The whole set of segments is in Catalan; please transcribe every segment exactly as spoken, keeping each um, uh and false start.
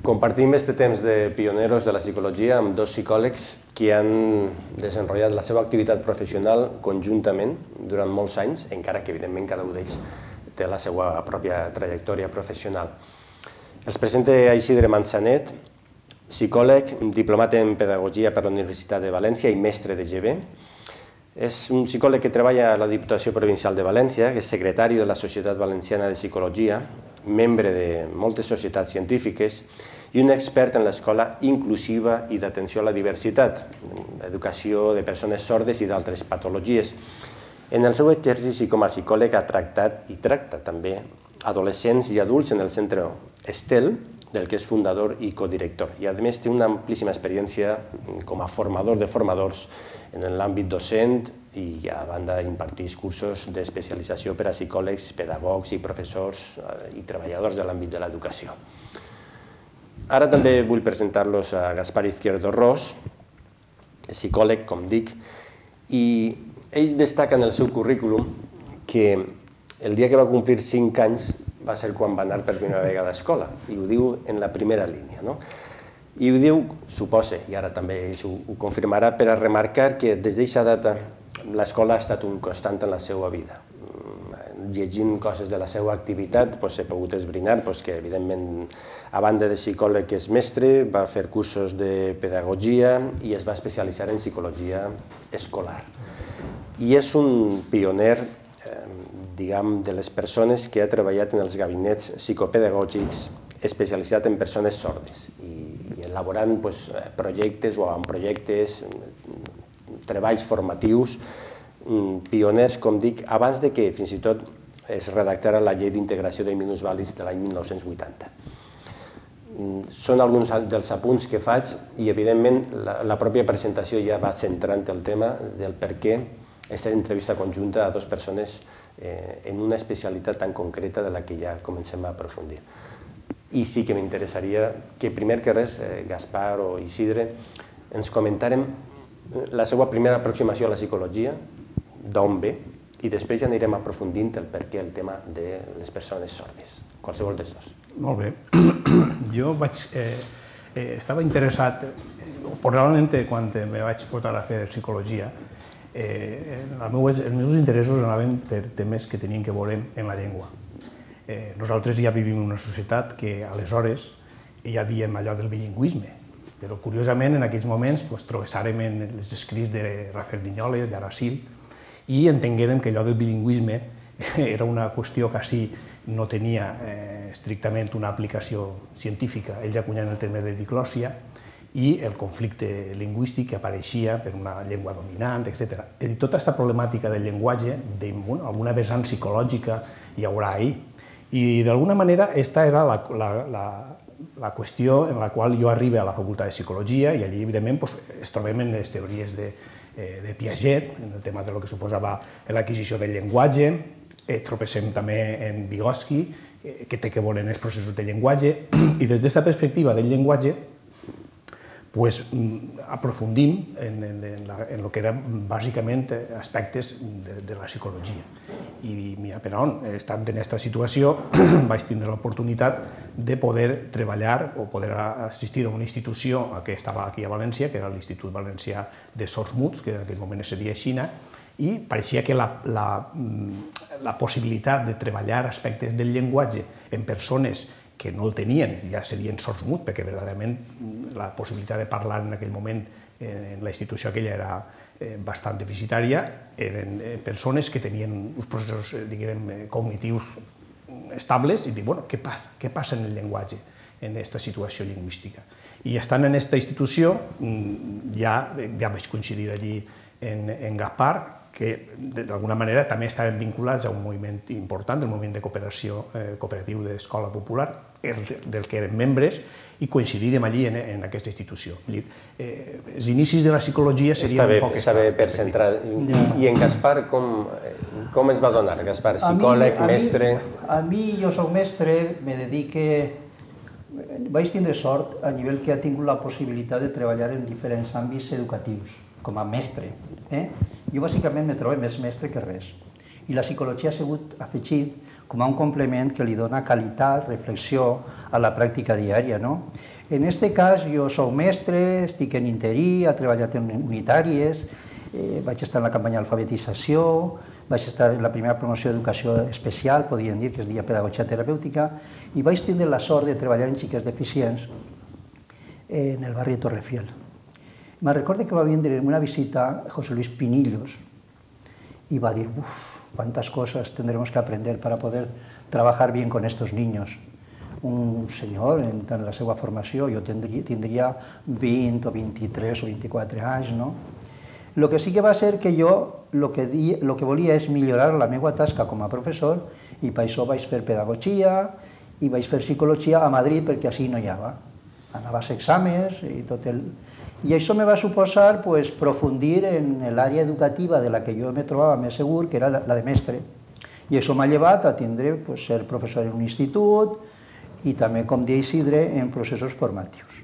Compartim este temps de pioneros de la psicologia amb dos psicòlegs que han desenvolupat la seva activitat professional conjuntament durant molts anys, encara que evidentment cada un d'ells té la seva pròpia trajectòria professional. Els presenta Isidre Manzanet, psicòleg, diplomat en pedagogia per la Universitat de València i mestre de G B. És un psicòleg que treballa a la Diputació Provincial de València, que és secretari de la Societat Valenciana de Psicologia, membre de moltes societats científiques i un expert en l'escola inclusiva i d'atenció a la diversitat, educació de persones sordes i d'altres patologies. En el seu exercici com a psicòleg ha tractat i tracta també adolescents i adults en el centre Estel, del que és fundador i codirector. I a més té una amplíssima experiència com a formador de formadors en l'àmbit docent i a banda impartir cursos d'especialització per a psicòlegs, pedagogs i professors i treballadors de l'àmbit de l'educació. Ara també vull presentar-los a Gaspar Izquierdo Ros, psicòleg, com dic, i ell destaca en el seu currículum que el dia que va complir cinc anys va ser quan va anar per primera vegada a escola, i ho diu en la primera línia. I ho diu, suposa, i ara també ell ho confirmarà, per a remarcar que des d'aquesta data l'escola ha estat un constant en la seva vida. Llegint coses de la seva activitat he pogut esbrinar que, evidentment, a banda de psicòleg és mestre, va fer cursos de pedagogia i es va especialitzar en psicologia escolar. I és un pioner, diguem, de les persones que ha treballat en els gabinets psicopedagògics especialitzats en persones sordes i elaborant projectes o amb projectes, treballs formatius, pioners, com dic, abans que fins i tot es redactara la llei d'integració de minusvàlids de l'any mil nou-cents vuitanta. Són alguns dels apunts que faig i, evidentment, la pròpia presentació ja va centrant el tema del per què aquesta entrevista conjunta a dues persones en una especialitat tan concreta de la que ja comencem a aprofundir. I sí que m'interessaria que, primer que res, Gaspar o Isidre, ens comentàrem la seva primera aproximació a la psicologia, d'on ve, i després ja anirem aprofundint el per què el tema de les persones sordes. Qualsevol dels dos. Molt bé. Jo estava interessat, probablement quan me vaig portar a fer psicologia, els meus interessos anaven per temes que tenien que veure amb la llengua. Nosaltres ja vivim en una societat que aleshores ja diem allò del bilingüisme, però curiosament en aquells moments trobessàrem els escrits de Rafael Viñoles, d'Aracil, i entenguérem que allò del bilingüisme era una qüestió que així no tenia estrictament una aplicació científica. Ells acunyant el terme de diglòssia i el conflicte lingüístic que apareixia per una llengua dominant, etcètera. És a dir, tota aquesta problemàtica del llenguatge, d'alguna vessant psicològica hi haurà ahir. I d'alguna manera aquesta era la qüestió en la qual jo arribo a la Facultat de Psicologia i allí, evidentment, es trobem en les teories de Piaget, en el tema del que suposava l'adquisició del llenguatge, tropecem també en Vygotsky, que té que veure en els processos de llenguatge, i des d'aquesta perspectiva del llenguatge aprofundim en el que eren bàsicament aspectes de la psicologia. I per on, estant en aquesta situació, vaig tindre l'oportunitat de poder treballar o poder assistir a una institució que estava aquí a València, que era l'Institut Valencià de Sords Muts, que en aquell moment es deia així, i pareixia que la possibilitat de treballar aspectes del llenguatge en persones que no el tenien, ja serien sords muts, perquè verdaderament la possibilitat de parlar en aquell moment en la institució aquella era bastant deficitària, eren persones que tenien uns processos, diguem, cognitius estables i dir, bueno, què passa en el llenguatge en aquesta situació lingüística? I estant en aquesta institució ja vaig coincidir allí en Gaspar, que d'alguna manera també estaven vinculats a un moviment important, el moviment de cooperació cooperatiu d'escola popular, del que eren membres, i coincidirem allí en aquesta institució. Els inicis de la psicologia serien un poc... Està bé per centrar. I en Gaspar com es va donar? Gaspar, psicòleg, mestre... A mi, jo soc mestre, me dedique... Vaig tindre sort a nivell que he tingut la possibilitat de treballar en diferents àmbits educatius, com a mestre. Jo bàsicament me trobo més mestre que res. I la psicologia ha sigut afegit com a un complement que li dona qualitat, reflexió a la pràctica diària. En aquest cas, jo soc mestre, estic en interí, he treballat en unitàries, eh, vaig estar en la campanya d'alfabetització, vaig estar en la primera promoció d'educació especial, podríem dir que es deia pedagogia terapèutica, i vaig tindre la sort de treballar en xiques deficients en el barri de Torrefiel. Me recordo que va vindre una visita José Luis Pinillos y va a decir, uff, cuántas cosas tendremos que aprender para poder trabajar bien con estos niños. Un señor en la seva formació, jo tindria, tindria vint o vint-i-tres o vint-i-quatre anys, no? El que sí que va ser que jo el que, di, lo que volia és millorar la meva tasca com a professor i per això vaig fer pedagogia i vaig fer psicologia a Madrid perquè així no hi havia. Anava a exàmens i tot el... I això me va suposar pues, profundir en l'àrea educativa de la que jo me trobava més segur, que era la de mestre. I això m'ha llevat a tindre, pues, ser professor en un institut i també, com deia Isidre, en processos formatius.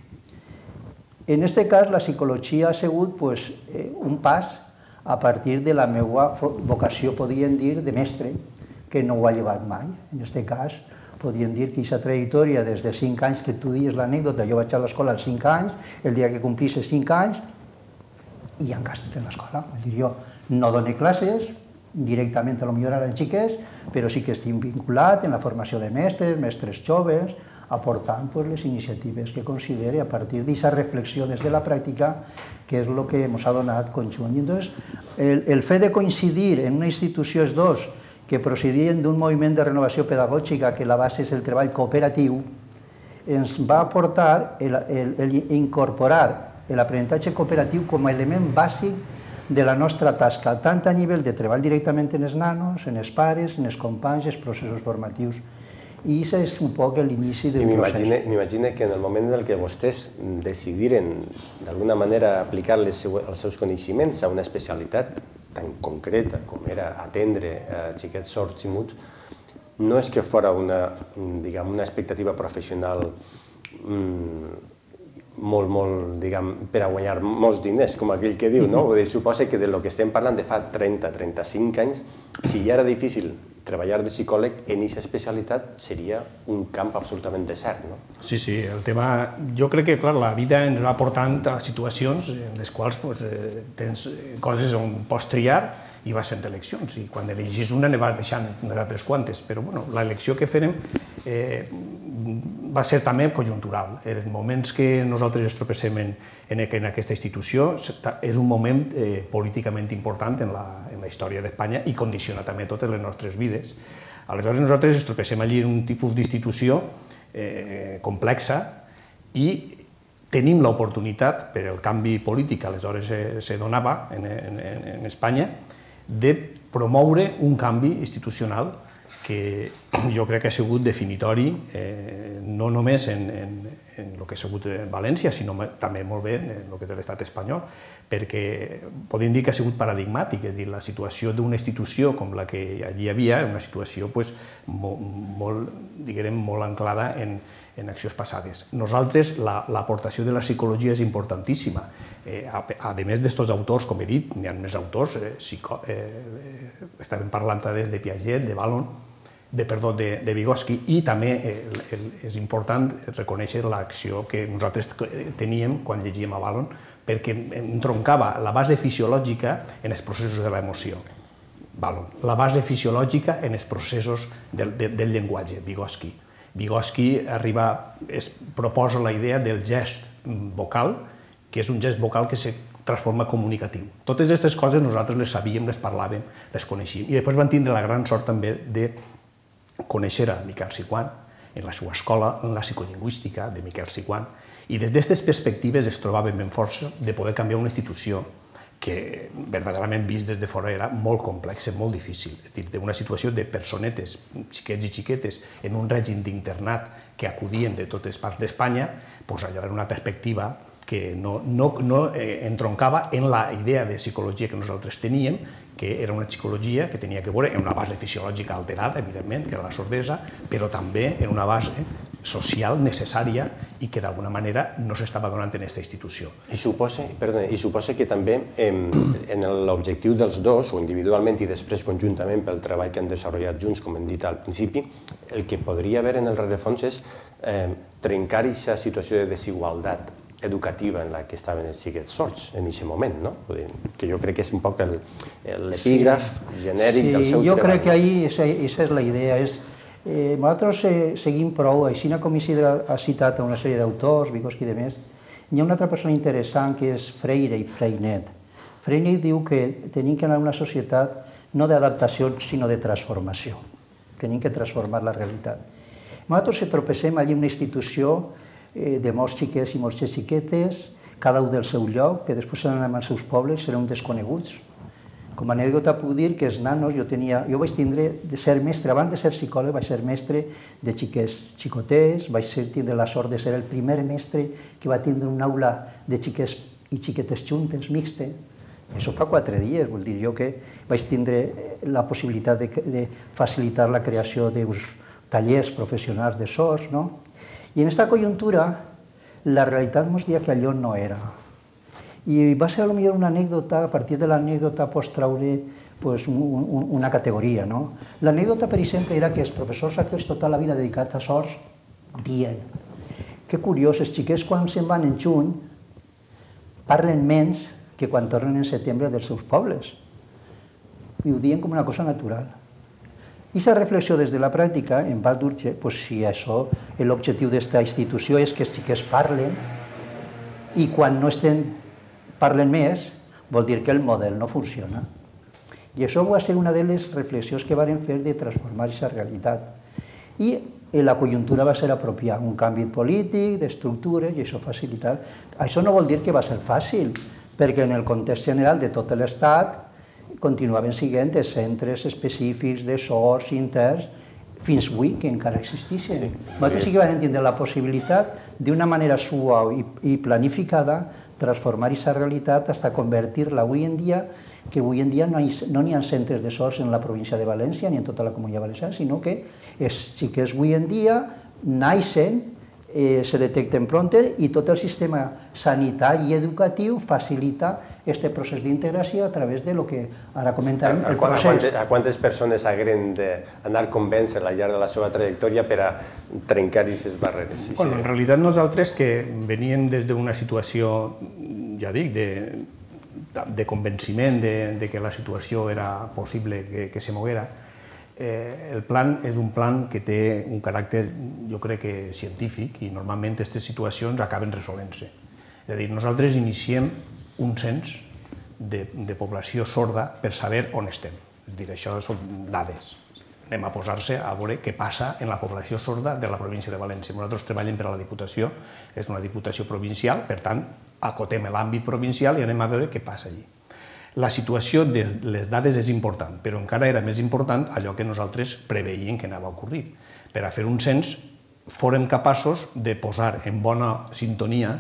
En aquest cas, la psicologia ha sigut pues, un pas a partir de la meva vocació, podríem dir, de mestre, que no ho ha llevat mai. En aquest cas, podríem dir que aquesta trajectòria des de cinc anys que tu dius l'anècdota, jo vaig a l'escola als cinc anys, el dia que complís cinc anys, i encara estic fent l'escola. Jo no dono classes, directament potser ara en xiquets, però sí que estic vinculat en la formació de mestres, mestres joves, aportant les iniciatives que considere a partir d'aquesta reflexió des de la pràctica, que és el que ens ha donat conjunt. Entonces, el fet de coincidir en una institució els dos, que procedien d'un moviment de renovació pedagògica, que la base és el treball cooperatiu, ens va aportar incorporar l'aprenentatge cooperatiu com a element bàsic de la nostra tasca, tant a nivell de treball directament en els nanos, en els pares, en els companys, els processos formatius. I això és un poc l'inici del procés. M'imagino que en el moment en què vostès decidiren d'alguna manera aplicar els seus coneixements a una especialitat tan concreta com era atendre xiquets sords i muts, no és que fora una, diguem, una expectativa professional molt, molt, diguem, per a guanyar molts diners, com aquell que diu, no? Suposa que del que estem parlant de fa trenta a trenta-cinc anys, si ja era difícil treballar de psicòleg en aquesta especialitat, seria un camp absolutament desert, no? Sí, sí, el tema... Jo crec que, clar, la vida ens va portant a situacions en les quals tens coses on pots triar i vas fent eleccions, i quan elegis una ne vas deixant unes altres quantes, però bueno, l'elecció que fèrem va ser també conjuntural. En moments que nosaltres ens tropecem en aquesta institució és un moment políticament important en la història d'Espanya i condiciona també totes les nostres vides. Aleshores nosaltres ens tropecem allí en un tipus d'institució complexa i tenim l'oportunitat, per el canvi polític que aleshores se donava en Espanya, de promoure un canvi institucional que jo crec que ha sigut definitori no només en el que ha sigut València, sinó també molt bé en el que és l'estat espanyol, perquè podem dir que ha sigut paradigmàtic, és a dir, la situació d'una institució com la que allí hi havia, una situació molt, diguem, molt anclada en accions passades. Nosaltres, l'aportació de la psicologia és importantíssima. A més d'estos autors, com he dit, n'hi ha més autors, estàvem parlant des de Piaget, de Vallon, de, perdó, de, de Vygotsky, i també és important reconèixer l'acció que nosaltres teníem quan llegíem a Vallon, perquè entroncava la base fisiològica en els processos de l'emoció. Vallon. La base fisiològica en els processos del, de, del llenguatge, Vygotsky. Vygotsky arriba, es proposa la idea del gest vocal, que és un gest vocal que se transforma comunicatiu. Totes aquestes coses nosaltres les sabíem, les parlàvem, les coneixíem. I després van tindre la gran sort també de conèixer a Miquel Sigüan en la seva escola, en la psicolingüística de Miquel Sigüan, i des d'aquestes perspectives es trobàvem en força de poder canviar una institució que verdaderament vist des de fora era molt complexa, molt difícil. És a dir, d'una situació de personetes, xiquets i xiquetes, en un règim d'internat que acudien de totes parts d'Espanya, doncs allò era una perspectiva que no entroncava en la idea de psicologia que nosaltres teníem, que era una psicologia que tenia que veure en una base fisiològica alterada, evidentment, que era la sordesa, però també en una base social necessària i que d'alguna manera no s'estava donant en aquesta institució. I suposa, perdona, i suposa que també en l'objectiu dels dos, o individualment i després conjuntament pel treball que han desenvolupat junts, com hem dit al principi, el que podria haver en el rerefons és trencar aquesta situació de desigualtat educativa en la que estaven els xiquets sords en aquest moment, no? Que jo crec que és un poc l'epígraf genèric del seu treball. Jo crec que ahí esa és la idea. Nosaltres seguim prou, així com Isidre ha citat una sèrie d'autors, Vygotsky i demés, hi ha una altra persona interessant que és Freire i Freinet. Freinet diu que tenim que anar a una societat no d'adaptació, sinó de transformació. Tenim que transformar la realitat. Nosaltres se tropecem allí en una institució de molts xiquets i moltes xiquetes, cada un del seu lloc, que després anem als seus pobles, serem desconeguts. Com a anècdota puc dir que els nanos, jo tenia, jo vaig tindre de ser mestre, abans de ser psicòleg vaig ser mestre de xiquets xicotets, vaig tindre la sort de ser el primer mestre que va tindre una aula de xiquets i xiquetes juntes, mixte. Això fa quatre dies, vull dir jo que vaig tindre la possibilitat de facilitar la creació d'uns tallers professionals de sords, no? I en aquesta conjuntura la realitat ens deia que allò no era. I va ser potser una anècdota, a partir de l'anècdota pots traure una categoria. L'anècdota, per exemple, era que els professors aquells tota la vida dedicats a sords dient que curiós, els xiquets quan se'n van en juny parlen menys que quan tornen en setembre dels seus pobles. I ho diuen com una cosa natural. I aquesta reflexió des de la pràctica em va dur que si això, l'objectiu d'aquesta institució és que els xiquets parlen i quan no estem parlen més, vol dir que el model no funciona. I això va ser una de les reflexions que varen fer de transformar aquesta realitat. I la conjuntura va ser apropiar un canvi polític, d'estructures, i això facilitar. Això no vol dir que va ser fàcil, perquè en el context general de tot l'Estat continuaven sent centres específics de sords interns fins avui, que encara existeixen. Nosaltres sí que vam entendre la possibilitat d'una manera suau i planificada transformar aquesta realitat fins a convertir-la avui en dia, que avui en dia no n'hi ha centres de sords en la província de València ni en tota la Comunitat Valenciana, sinó que els xiquets avui en dia naixen, se detecten pronter i tot el sistema sanitari i educatiu facilita aquest procés d'integració a través de lo que ara comentarem, el procés. A quantes persones hagueren d'anar a convèncer al llarg de la seva trajectòria per a trencar aquestes barreres? En realitat nosaltres que veníem des d'una situació, ja dic, de convenciment de que la situació era possible que se moguera, el plan és un plan que té un caràcter, jo crec que científic, i normalment aquestes situacions acaben resolent-se. És a dir, nosaltres iniciem un cens de població sorda per saber on estem. És a dir, això són dades. Anem a posar-se a veure què passa en la població sorda de la província de València. Nosaltres treballem per a la Diputació, és una Diputació provincial, per tant, acotem l'àmbit provincial i anem a veure què passa allí. La situació de les dades és important, però encara era més important allò que nosaltres preveiem que anava a ocorrir. Per a fer un cens, fórem capaços de posar en bona sintonia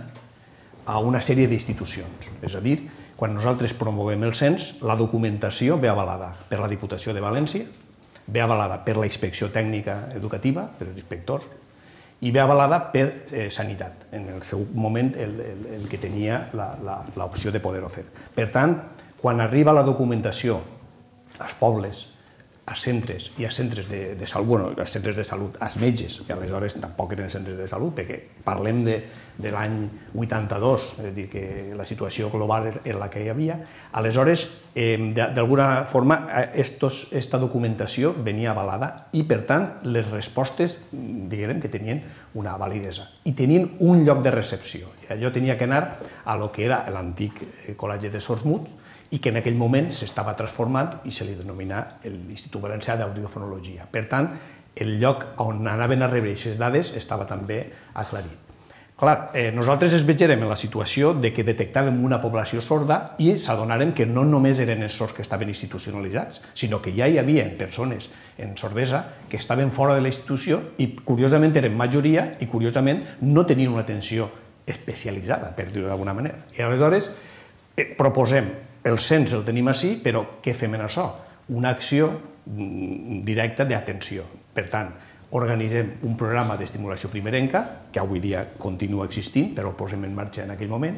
a una sèrie d'institucions. És a dir, quan nosaltres promovem el cens, la documentació ve avalada per la Diputació de València, ve avalada per la Inspecció Tècnica Educativa, per els inspectors, i ve avalada per Sanitat, en el seu moment el que tenia l'opció de poder-ho fer. Per tant, quan arriba la documentació als pobles, als centres i als centres de salut, bueno, als centres de salut, als metges, que aleshores tampoc eren centres de salut, perquè parlem de l'any vuitanta-dos, és a dir, que la situació global era la que hi havia, aleshores, d'alguna forma, aquesta documentació venia avalada i, per tant, les respostes, diguem que tenien una validesa i tenien un lloc de recepció. Allò tenia que anar a lo que era l'antic Col·legi de Sords Muts, i que en aquell moment s'estava transformant i se li denomina l'Institut Valencià d'Audiofonologia. Per tant, el lloc on anaven a rebre aquestes dades estava també aclarit. Clar, nosaltres ens veiem en la situació que detectàvem una població sorda i s'adonàrem que no només eren els sords que estaven institucionalitzats, sinó que ja hi havia persones en sordesa que estaven fora de la institució i, curiosament, eren majoria i, curiosament, no tenien una atenció especialitzada, per dir-ho d'alguna manera. I aleshores proposem el cens el tenim així, però què fem en això? Una acció directa d'atenció. Per tant, organitzem un programa d'estimulació primerenca, que avui dia continua existint, però el posem en marxa en aquell moment.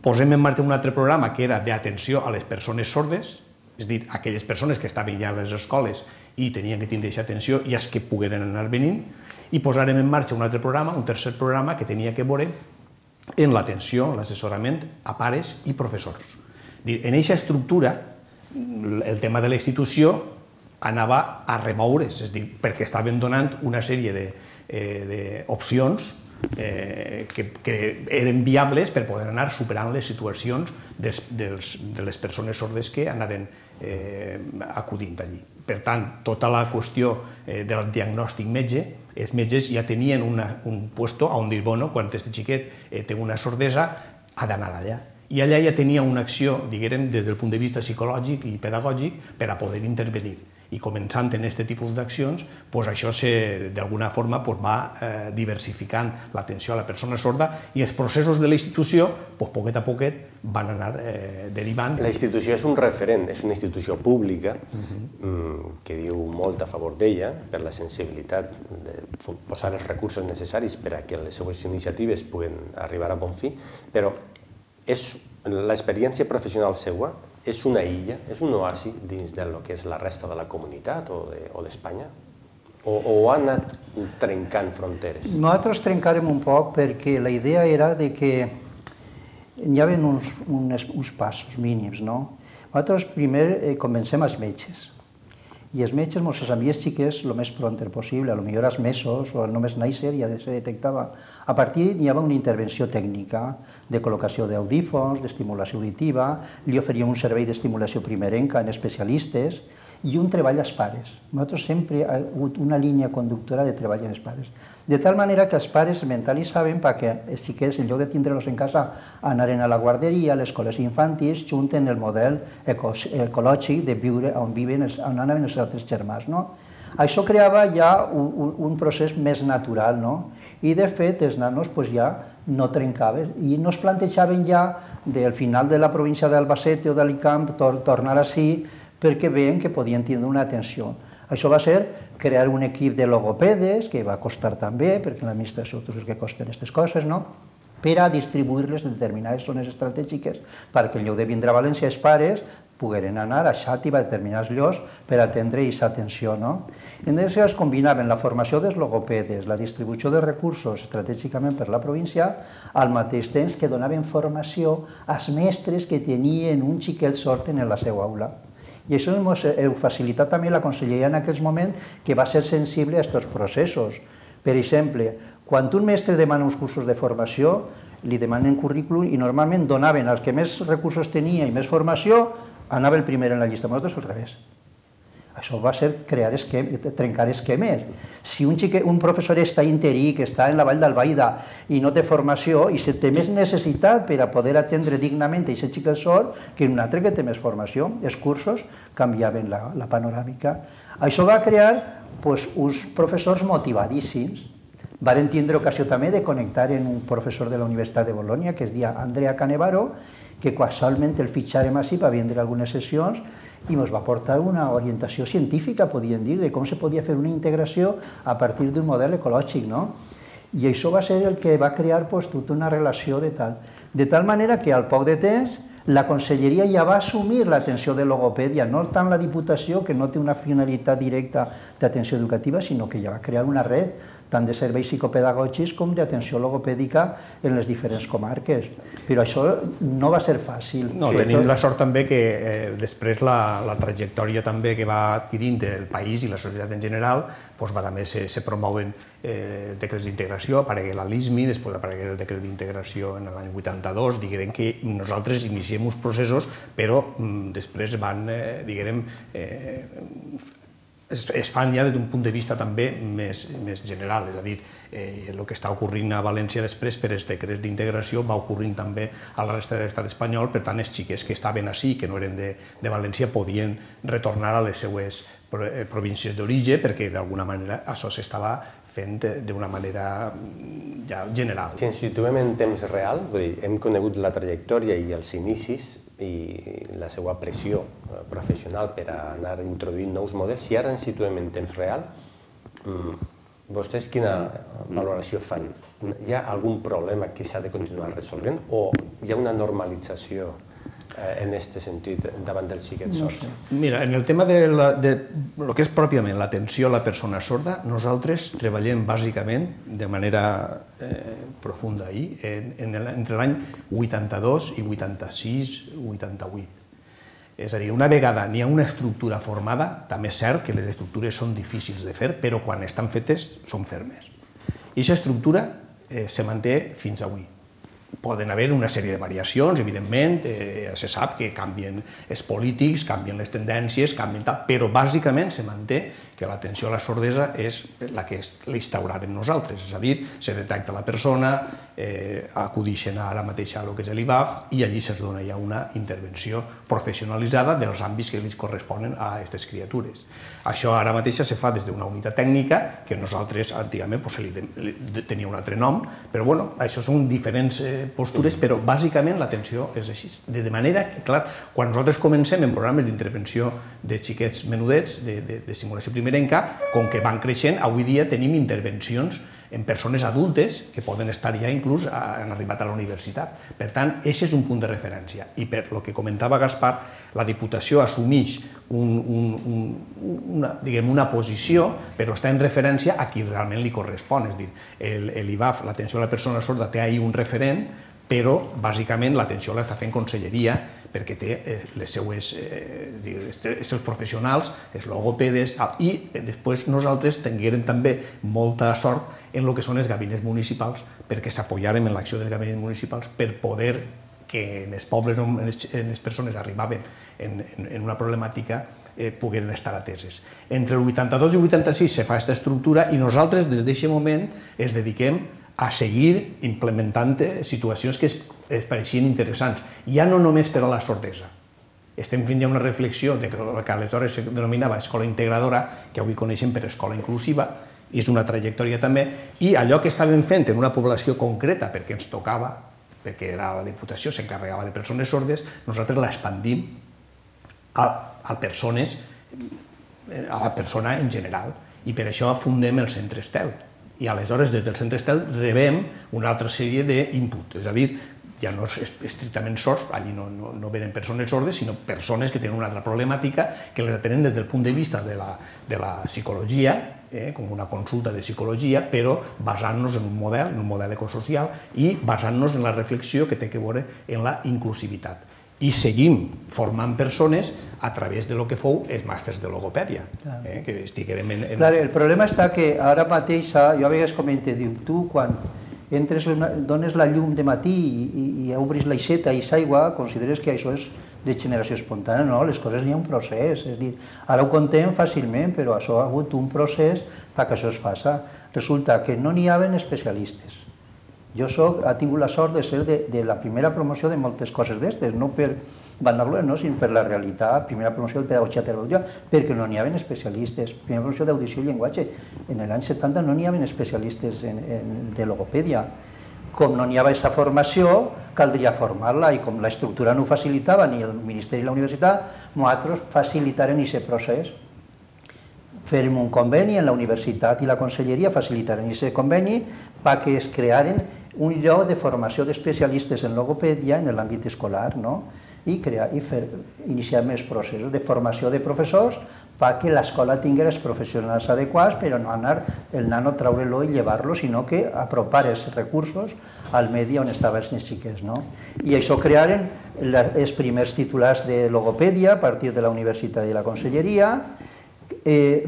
Posem en marxa un altre programa que era d'atenció a les persones sordes, és a dir, aquelles persones que estaven ja a les escoles i tenien que tindre aquesta atenció i els que pogueren anar venint, i posarem en marxa un altre programa, un tercer programa que tenia que veure en l'atenció, l'assessorament a pares i professors. En aquesta estructura, el tema de la institució anava a remoure's, és a dir, perquè estaven donant una sèrie d'opcions que eren viables per poder anar superant les situacions de les persones sordes que anaven acudint allí. Per tant, tota la qüestió del diagnòstic metge, els metges ja tenien un puesto on dir, bueno, quan aquest xiquet té una sordesa, ha d'anar allà. I allà ja tenia una acció, diguem, des del punt de vista psicològic i pedagògic per a poder intervenir. I començant en aquest tipus d'accions, això d'alguna forma va diversificant l'atenció a la persona sorda i els processos de la institució, poquet a poquet, van anar derivant. La institució és un referent, és una institució pública que diu molt a favor d'ella per la sensibilitat de posar els recursos necessaris per a que les seues iniciatives puguen arribar a bon fi, però l'experiència professional seva és una illa, és un oasi dins del que és la resta de la comunitat o d'Espanya? O ha anat trencant fronteres? Nosaltres trencàrem un poc perquè la idea era que hi havia uns passos mínims. Nosaltres primer convencem els metges. I els metges ens envien els xiquets el més pront possible, potser als mesos o només néixer ja se detectava. A partir hi havia una intervenció tècnica de col·locació d'audífons, d'estimulació auditiva, li oferíem un servei d'estimulació primerenca en especialistes i un treball als pares. Nosaltres sempre hi ha hagut una línia conductora de treball amb els pares. De tal manera que els pares mentalitzaven perquè els xiquets, en lloc de tindre-los en casa, anaren a la guarderia, a les escoles infantils, junten el model ecològic de viure on anaven els altres germans. Això creava ja un procés més natural i, de fet, els nanos ja no trencaven i no es plantejaven ja del final de la província d'Albacete o d'Alicant tornar així perquè veien que podien tindre una atenció. Això va ser crear un equip de logopedes, que va costar també, perquè l'administració és el que costen aquestes coses, per a distribuir-les en determinades zones estratègiques perquè en lloc de vindre a València els pares pogueren anar a Xàtiva, a determinats llocs, per atendre aquesta atenció. Llavors es combinaven la formació dels logopedes, la distribució de recursos estratègicament per la província, al mateix temps que donaven formació als mestres que tenien un xiquet sord en la seva aula. I això ens ho facilita també la conselleria en aquell moment, que va ser sensible a aquests processos. Per exemple, quan un mestre demana uns cursos de formació, li demanen currículum i normalment donaven als que més recursos tenia i més formació, anava el primer en la llista. Nosaltres al revés. Això va ser trencar esquemes. Si un professor està interí, que està en la Vall d'Albaida i no té formació i té més necessitat per a poder atendre dignament aquest xiquet sord que un altre que té més formació, els cursos canviaven la panoràmica. Això va crear uns professors motivadíssims. Varen tindre ocasió també de connectar amb un professor de la Universitat de Bologna, que es deia Andrea Canevaro, que casualment el fitxarem així per vindre algunes sessions i ens va portar una orientació científica, podríem dir, de com se podia fer una integració a partir d'un model ecològic. I això va ser el que va crear tota una relació de tal. De tal manera que al poc de temps la conselleria ja va assumir l'atenció de logopèdia, no tant la Diputació, que no té una finalitat directa d'atenció educativa, sinó que ja va crear una red tant de serveis psicopedagògics com d'atenció logopèdica en les diferents comarques. Però això no va ser fàcil. No, tenim la sort també que després la trajectòria també que va adquirint el país i la societat en general, també se promouen decrets d'integració, aparegué la LISMI, després aparegué el decret d'integració en l'any vuitanta-dos, diguem que nosaltres iniciem uns processos, però després van, diguem, es fan ja des d'un punt de vista també més general, és a dir, el que està ocorrint a València després per els decrets d'integració va ocorrint també a la resta de l'estat espanyol, per tant els xiquets que estaven així, que no eren de València, podien retornar a les seues províncies d'origen perquè d'alguna manera això s'estava fent d'una manera ja general. Si ens situem en temps real, hem conegut la trajectòria i els inicis i la seva pressió professional per anar introduint nous models, si ara ens situem en temps real, Vostès quina valoració fan? Hi ha algun problema que s'ha de continuar resolent o hi ha una normalització en aquest sentit davant dels xiquets sords? Mira, en el tema de lo que és pròpiament l'atenció a la persona sorda, nosaltres treballem bàsicament de manera profunda ahir, entre l'any vuitanta-dos i vuitanta-sis vuitanta-vuit. És a dir, una vegada n'hi ha una estructura formada, també és cert que les estructures són difícils de fer, però quan estan fetes són fermes. I aquesta estructura se manté fins avui. Poden haver una sèrie de variacions, evidentment, se sap que canvien els polítics, canvien les tendències, canvien tal, però bàsicament se manté que l'atenció a la sordesa és la que l'instaurarem nosaltres, és a dir, se detecta la persona, acudixen ara mateix a lo que és l'I V A F i allí se'ls dona ja una intervenció professionalitzada dels àmbits que li corresponen a aquestes criatures. Això ara mateix se fa des d'una unitat tècnica, que nosaltres antigament tenia un altre nom, però bueno, això són diferents postures, però bàsicament l'atenció és així. De manera que, clar, quan nosaltres comencem en programes d'intervenció de xiquets menudets, d'estimulació primerenca, com que van creixent, avui dia tenim intervencions en persones adultes que poden estar ja inclús han arribat a la universitat. Per tant, aquest és un punt de referència. I per el que comentava Gaspar, la Diputació assumeix una posició, però està en referència a qui realment li correspon. És a dir, l'I V A F, l'atenció a la persona sorda, té ahir un referent, però bàsicament l'atenció l'està fent conselleria perquè té els seus professionals, els logopedes, i després nosaltres tinguérem també molta sort en el que són els gabinets municipals, perquè s'apoyarem en l'acció dels gabinets municipals per poder que en els pobles on les persones arribaven en una problemàtica pogueren estar ateses. Entre el vuitanta-dos i el vuitanta-sis se fa aquesta estructura i nosaltres des d'aquest moment ens dediquem a seguir implementant situacions que es pareixien interessants, ja no només per a la sordesa. Estem fent ja una reflexió de el que aleshores es denominava escola integradora, que avui coneixem per escola inclusiva, és una trajectòria també, i allò que estàvem fent en una població concreta, perquè ens tocava, perquè era la Diputació, s'encarregava de persones sordes, nosaltres l'expandim a persones, a la persona en general, i per això fundem el Centre Estel. I aleshores des del Centre Estel rebem una altra sèrie d'input, és a dir, ja no és estrictament sords, allí no venen persones sordes, sinó persones que tenen una altra problemàtica que les atenen des del punt de vista de la psicologia, com una consulta de psicologia, però basant-nos en un model, en un model ecosocial i basant-nos en la reflexió que té a veure en la inclusivitat. I seguim formant persones a través del que fou els màsters de logopèdia. Clar, el problema està que ara mateix, jo a vegades comento, diu, tu quan entres, dones la llum de matí i obris l'aixeta i s'aigua, consideres que això és de generació espontània, no, les coses hi ha un procés, és a dir, ara ho contem fàcilment, però això ha hagut un procés perquè això es faci. Resulta que no n'hi havien especialistes. Jo soc, ha tingut la sort de ser de la primera promoció de moltes coses d'estes, no per vanagloria, sinó per la realitat, primera promoció de pedagogia terapèutica, perquè no n'hi havien especialistes, primera promoció d'audició i llenguatge. En l'any setanta no n'hi havien especialistes de logopèdia. Com no n'hi havia aquesta formació, caldria formar-la, i com l'estructura no ho facilitava ni el Ministeri i la Universitat, nosaltres facilitarem aquest procés. Farem un conveni en la Universitat i la Conselleria, facilitarem aquest conveni perquè es crearen un lloc de formació d'especialistes en logopèdia en l'àmbit escolar, i iniciar més processos de formació de professors perquè l'escola tingui els professionals adequats, però no anar el nano, treure-lo i llevar-lo, sinó que apropar els recursos al medi on estaven els xiquets. I això crearen els primers titulars de logopèdia a partir de la Universitat i la Conselleria.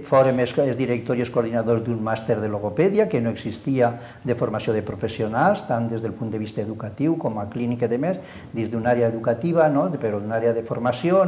Fórem els directors i els coordinadors d'un màster de logopèdia que no existia de formació de professionals, tant des del punt de vista educatiu com a clínica i demés, dins d'una àrea educativa, però d'una àrea de formació,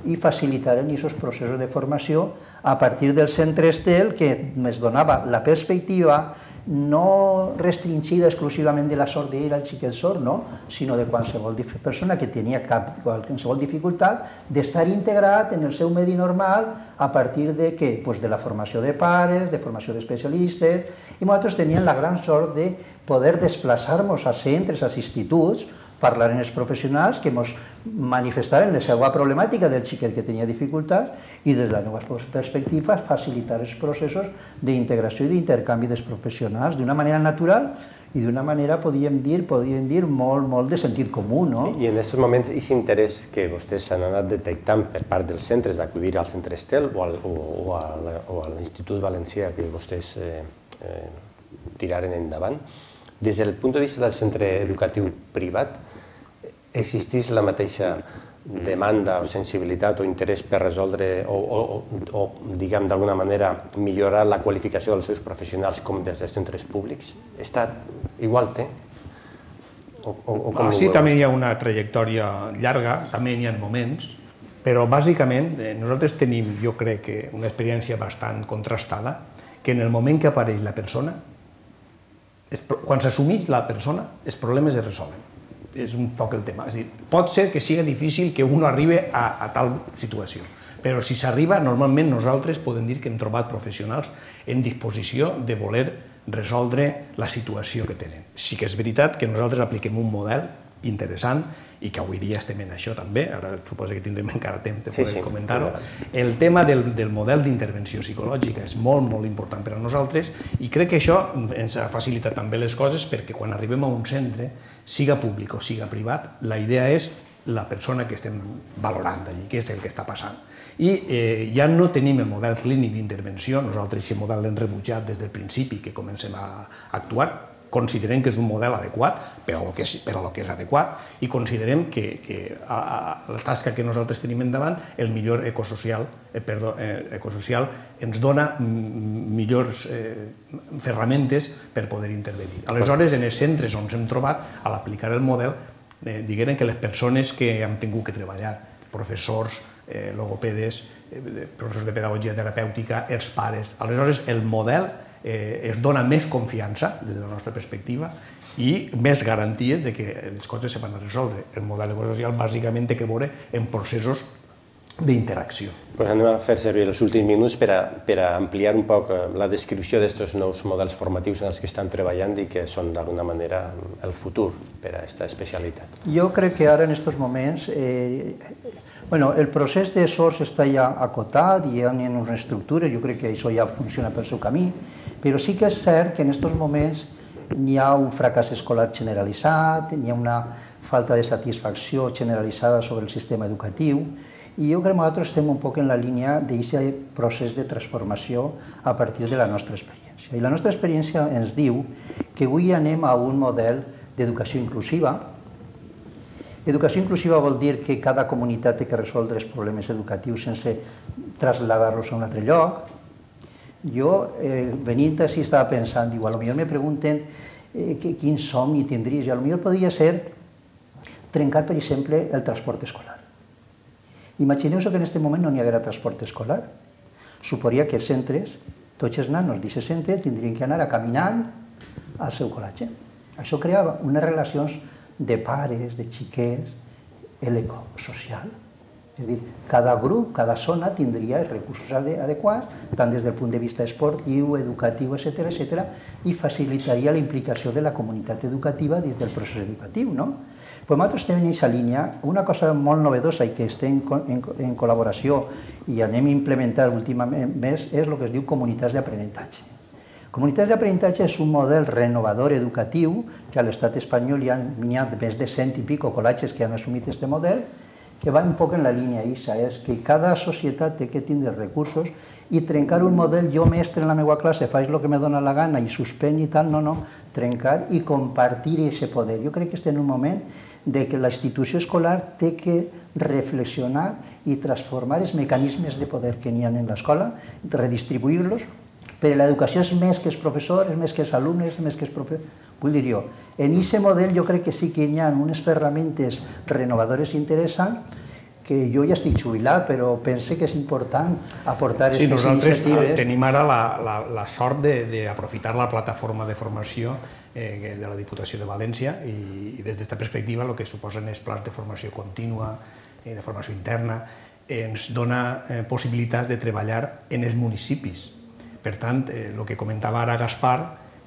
i facilitarem aquests processos de formació a partir del Centre Estel, que ens donava la perspectiva no restringida exclusivament de la sordera al xiquet sord, sinó de qualsevol persona que tenia qualsevol dificultat d'estar integrat en el seu medi normal a partir de què? De la formació de pares, de formació d'especialistes, i nosaltres teníem la gran sort de poder desplaçar-nos a centres, als instituts, parlar amb els professionals que ens manifestaren la seva problemàtica del xiquet que tenia dificultats i des de la nova perspectiva facilitar els processos d'integració i d'intercanvi dels professionals d'una manera natural i d'una manera, podríem dir, podríem dir molt, molt de sentit comú, no? I en aquests moments, aquest interès que vostès s'han anat detectant per part dels centres d'acudir al centre Estel o, al, o, o, a, o a l'Institut Valencià que vostès eh, eh, tiraren endavant, des del punt de vista del centre educatiu privat, existeix la mateixa demanda o sensibilitat o interès per resoldre o, o, o diguem d'alguna manera, millorar la qualificació dels seus professionals com des dels centres públics? Està igual, té? O, o, o com sí, també hi ha una trajectòria llarga, també hi ha moments, però bàsicament nosaltres tenim, jo crec que una experiència bastant contrastada, que en el moment que apareix la persona, quan s'assumeix la persona, els problemes es resolen. És un poc el tema. És dir, pot ser que sigui difícil que un arribi a, a tal situació, però si s'arriba, normalment nosaltres podem dir que hem trobat professionals en disposició de voler resoldre la situació que tenen. Sí que és veritat que nosaltres apliquem un model interessant i que avui dia estem en això també, ara suposo que tindrem encara temps de poder comentar-ho. El tema del, del model d'intervenció psicològica és molt, molt important per a nosaltres i crec que això ens ha facilitat també les coses perquè quan arribem a un centre, siga públic o siga privat, la idea és la persona que estem valorant allí, què és el que està passant. I eh, ja no tenim el model clínic d'intervenció, nosaltres aquest model l'hem rebutjat des del principi que comencem a actuar, considerem que és un model adequat per a lo que és, per a lo que és adequat i considerem que, que a, a la tasca que nosaltres tenim endavant, el millor ecosocial, eh, perdó, eh, ecosocial ens dona millors eh, ferramentes per poder intervenir. Aleshores, en els centres on s'hem trobat, a l'aplicar el model, eh, digueren que les persones que hem tingut que treballar, professors, eh, logopedes, eh, professors de pedagogia terapèutica, els pares, aleshores el model Eh, es dona més confiança des de la nostra perspectiva i més garanties de que les coses se van a resoldre. El model ecosocial bàsicament té que veure en processos d'interacció. Pues anem a fer servir els últims minuts per a, per a ampliar un poc la descripció d'aquests nous models formatius en els que estan treballant i que són d'alguna manera el futur per a aquesta especialitat. Jo crec que ara en aquests moments eh, bueno, el procés de sords està ja acotat i hi ha unes estructures, jo crec que això ja funciona pel seu camí, però sí que és cert que en aquests moments hi ha un fracàs escolar generalitzat, hi ha una falta de satisfacció generalitzada sobre el sistema educatiu i jo crec que nosaltres estem un poc en la línia d'aquest procés de transformació a partir de la nostra experiència. I la nostra experiència ens diu que avui anem a un model d'educació inclusiva. Educació inclusiva vol dir que cada comunitat té que resoldre els problemes educatius sense traslladar-los a un altre lloc. Jo, eh, venint així, estava pensant, diu, potser me pregunten eh, que, quin somni tindries, i potser podria ser trencar, per exemple, el transport escolar. Imagineu-vos que en aquest moment no n'hi haguera transport escolar. Suposaria que els centres, tots els nanos d'aquest centre, tindrien que anar a caminant al seu col·legi. Això creava unes relacions de pares, de xiquets, l'ecosocial. És a dir, cada grup, cada zona tindria els recursos adequats, tant des del punt de vista esportiu, educatiu, etcètera, etcètera, i facilitaria la implicació de la comunitat educativa dins del procés educatiu, no? Pues nosaltres estem en aquesta línia. Una cosa molt novedosa i que estem en, en col·laboració i anem a implementar últimament més és el que es diu comunitats d'aprenentatge. Comunitats d'aprenentatge és un model renovador educatiu que a l'estat espanyol hi ha, hi ha més de cent i pico col·legis que han assumit aquest model, que va un poc en la línia aquesta, és que cada societat té que tindre recursos i trencar un model, jo mestre en la meva classe faig el que me dóna la gana i suspèn i tal, no, no, trencar i compartir aquest poder. Jo crec que estem en un moment de que la institució escolar té que reflexionar i transformar els mecanismes de poder que n'hi ha en l'escola, redistribuir-los, però l'educació és més que els professors, és més que els alumnes, és més que els professors. Vull dir jo, en aquest model jo crec que sí que hi ha unes ferramentes renovadores interessants que jo ja estic jubilat, però pense que és important aportar aquestes iniciatives. Sí, nosaltres tenim ara la sort d'aprofitar la plataforma de formació de la Diputació de València i des d'aquesta perspectiva el que suposen els plans de formació contínua, de formació interna, ens dona possibilitats de treballar en els municipis. Per tant, el que comentava ara Gaspar,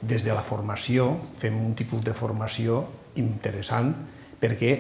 des de la formació fem un tipus de formació interessant perquè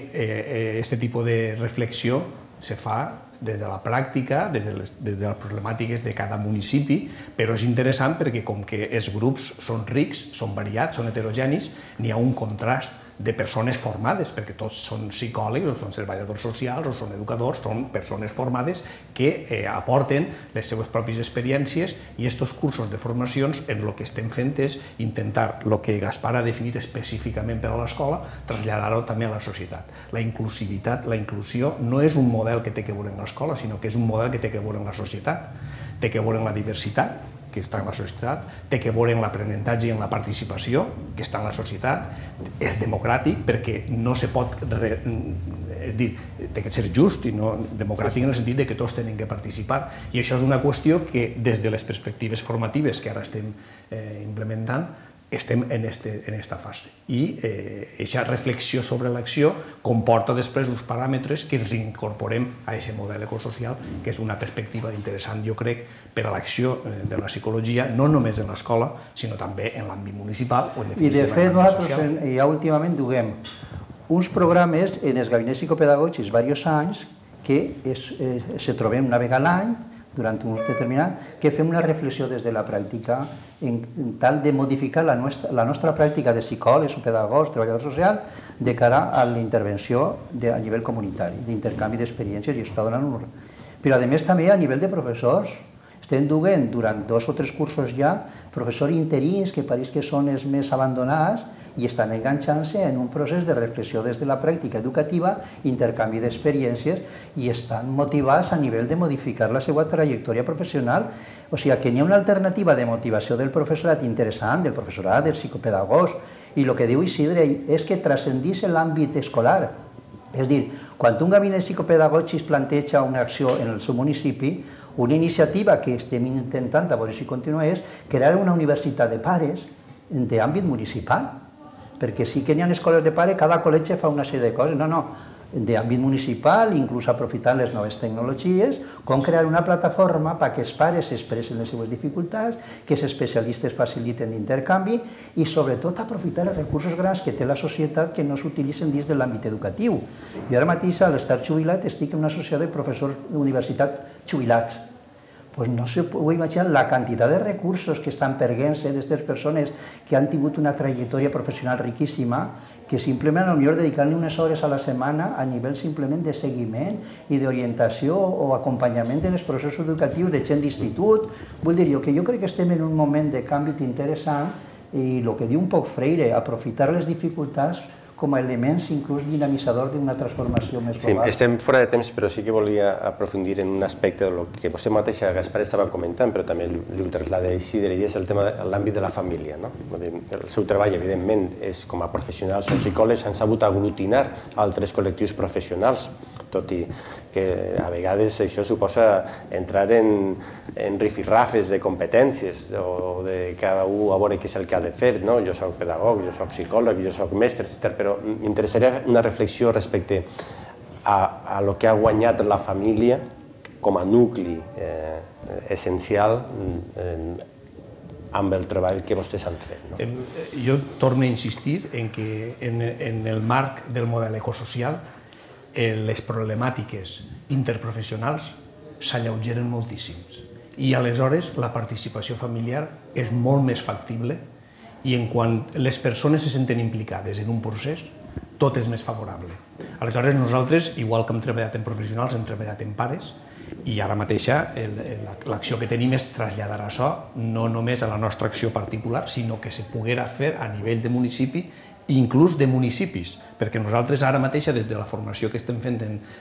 aquest tipus de reflexió se fa des de la pràctica, des de les, des de les problemàtiques de cada municipi, però és interessant perquè com que els grups són rics, són variats, són heterogenis, n'hi ha un contrast de persones formades, perquè tots són psicòlegs, o són treballadors socials, o són educadors, són persones formades que eh, aporten les seves pròpies experiències, i aquests cursos de formacions en el que estem fent és intentar el que Gaspar ha definit específicament per a l'escola, traslladar-ho també a la societat. La inclusivitat, la inclusió no és un model que té que veure en l'escola, sinó que és un model que té que veure en la societat, té que veure en la diversitat, que està en la societat, té que veure en l'aprenentatge i en la participació, que està en la societat, és democràtic perquè no se pot, és dir, té que ser just i no democràtic en el sentit que tots tenen que participar, i això és una qüestió que des de les perspectives formatives que ara estem implementant estem en aquesta fase. I aquesta reflexió sobre l'acció comporta després els paràmetres que els incorporem a aquest model ecosocial, que és una perspectiva interessant, jo crec, per a l'acció de la psicologia, no només en l'escola, sinó també en l'àmbit municipal o en definitiva en l'àmbit social. I de fet, nosaltres ja últimament duguem uns programes en els gabinets psicopedagògics diversos anys que se trobem una vegada a l'any durant un determinat, que fem una reflexió des de la pràctica en tal de modificar la nostra, la nostra pràctica de psicòlegs o pedagogs, treballadors socials, de cara a la intervenció a nivell comunitari, d'intercanvi d'experiències, i això està donant un... Però a més també a nivell de professors. Estem duent durant dos o tres cursos ja professors interins, que pareix que són els més abandonats, i estan enganxant-se en un procés de reflexió des de la pràctica educativa, intercanvi d'experiències, i estan motivats a nivell de modificar la seva trajectòria professional. O sigui que hi ha una alternativa de motivació del professorat interessant, del professorat, dels psicopedagogs, i el que diu Isidre és que transcendís l'àmbit escolar. És a dir, quan un gabinet psicopedagògic planteja una acció en el seu municipi, una iniciativa que estem intentant, a veure si continua, és crear una universitat de pares d'àmbit municipal, perquè sí que n'hi ha escoles de pares, cada col·legi fa una sèrie de coses, no, no, d'àmbit municipal, inclús aprofitant les noves tecnologies, com crear una plataforma perquè els pares expressen les seves dificultats, que els especialistes faciliten l'intercanvi i sobretot aprofitar els recursos grans que té la societat que no s'utilitzen dins de l'àmbit educatiu. Jo ara mateix, a l'estar jubilat, estic en una associació de professors d'universitat jubilats. Doncs no se puc imaginar la quantitat de recursos que estan perguent-se d'aquestes persones que han tingut una trajectòria professional riquíssima, que simplement potser dedicar-li unes hores a la setmana a nivell simplement de seguiment i d'orientació o acompanyament en els processos educatius de gent d'institut. Vull dir que jo crec que estem en un moment de canvi interessant i el que diu un poc Freire, aprofitar les dificultats com a elements inclús dinamitzadors d'una transformació més global. Sí, estem fora de temps, però sí que volia aprofundir en un aspecte del que vostè mateixa, Gaspar, estava comentant, però també li ho trasllada a Isidre, i és el tema de l'àmbit de la família. El seu treball, evidentment, és com a professionals o psicòlegs, han sabut aglutinar altres col·lectius professionals, tot i que a vegades això suposa entrar en rifirrafes de competències o de cada un a veure què és el que ha de fer. Jo soc pedagog, jo soc psicòleg, jo soc mestre, etcètera, però m'interessaria una reflexió respecte a lo que ha guanyat la família com a nucli essencial amb el treball que vostès han fet. Jo torno a insistir en que en el marc del model ecosocial les problemàtiques interprofessionals s'alleugeren moltíssims i aleshores la participació familiar és molt més factible i en quan les persones se senten implicades en un procés, tot és més favorable. Aleshores nosaltres, igual que hem treballat en professionals, hem treballat en pares i ara mateixa l'acció que tenim és traslladar això no només a la nostra acció particular, sinó que se poguera fer a nivell de municipi, inclús de municipis, perquè nosaltres ara mateixa, des de la formació que estem fent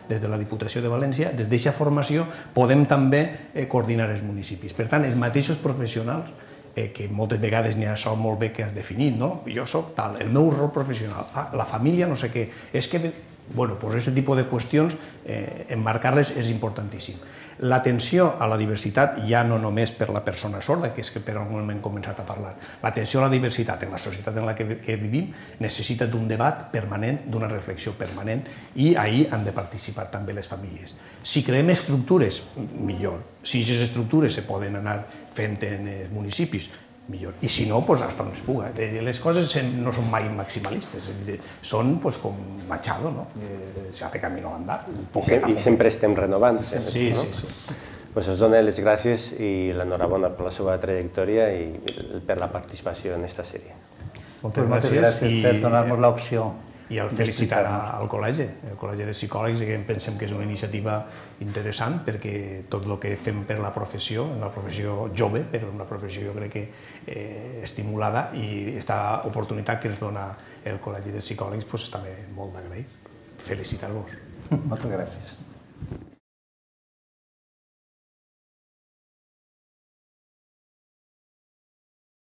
des de la Diputació de València, des d'aquesta formació podem també coordinar els municipis. Per tant, els mateixos professionals, que moltes vegades n'hi ha això molt bé que has definit, no? Jo soc tal, el meu rol professional, la família no sé què, és que, bueno, doncs aquest tipus de qüestions, emmarcar-les és importantíssim. L'atenció a la diversitat, ja no només per la persona sorda, que és que per un moment hem començat a parlar, l'atenció a la diversitat en la societat en la que vivim necessita d'un debat permanent, d'una reflexió permanent, i ahir han de participar també les famílies. Si creem estructures, millor. Si aquestes estructures se poden anar fent en els municipis, millor. I si no, doncs hasta on es puga. Les coses no són mai maximalistes, són com Machado, no? Se hace camino a andar. I sempre estem renovant-se. Sí, sí, sí. Pues us dono les gràcies i l'enhorabona per la seva trajectòria i per la participació en aquesta sèrie. Moltes gràcies per donar-nos l'opció. I el felicitar al col·legi, el Col·legi de Psicòlegs, que pensem que és una iniciativa interessant perquè tot el que fem per la professió, una professió jove, però una professió jo crec que estimulada, i aquesta oportunitat que ens dona el Col·legi de Psicòlegs també molt d'agrair. Felicitar-vos. Moltes gràcies.